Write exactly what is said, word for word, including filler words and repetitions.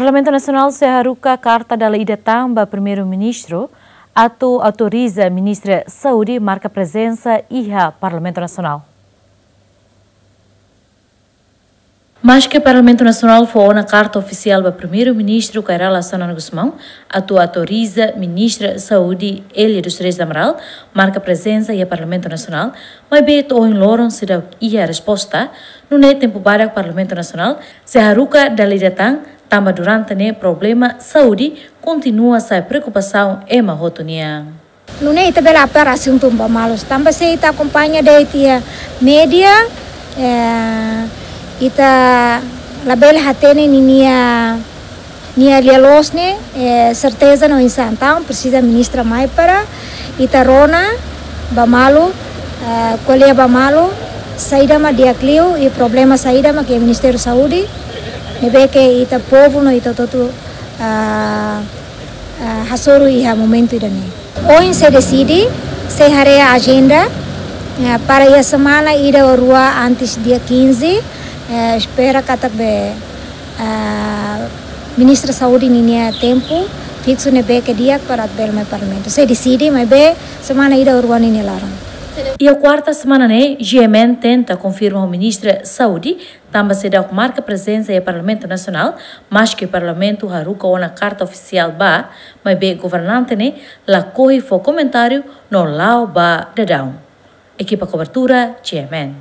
Parlamentu Nasionál sei haruka karta dala ida tan ba Primeiru-Ministru atu autoriza Ministra Saúde marka prezensa iha Parlamentu Nasionál. Maske Parlamentu Nasionál fó ona karta ofisiál ba Primeiru-Ministru Kay Rala Xanana Gusmão atu autoriza Ministra Saúde Élia dos Reis do Amaral marka prezensa iha Parlamentu Nasionál, maibé to'o ohin loron seidauk iha resposta, nune'e tempu badak Parlamentu Nasionál sei haruka dala ida tan, tanba durante ne'e problema saúde kontinua sai preokupasaun ema hotu nian. Nune'e ita bele apara asuntu ba malu, tanba se ita akompaña de'it iha média, eh, ita labele hatene ninia, nia lia-loos ne'e, eh, serteza no insan. Entaun presiza ministra mai para ita rona ba malu, eh, ko'alia ba malu, saida mak di'ak liu i problema saida mak iha Ministériu Saúde, ne'ebé ke ita povu no ita hotu, ah, ah, hasoru iha momentu ida-ne'e. Ohin sei deside, sei haree ajenda, eh, para iha semana ida ou rua antes dia quinze, eh, espera katak be, ah, Ministra Saúde ninia tempu fiksu ne'ebé ke di'ak para bele mai Parlamentu. Sei deside, maibé semana ida ou rua ninia laran. Iha kuarta semana ne'e, G M N tenta konfirma ho Ministra Saúde, tanba seidauk marka prezensa iha Parlamentu Nasionál, maske Parlamentu haruka ona karta ofisiál ba, maibé governante ne'e lakohi fó komentáriu no la'o ba daudaun. Ekipa kobertura, G M N.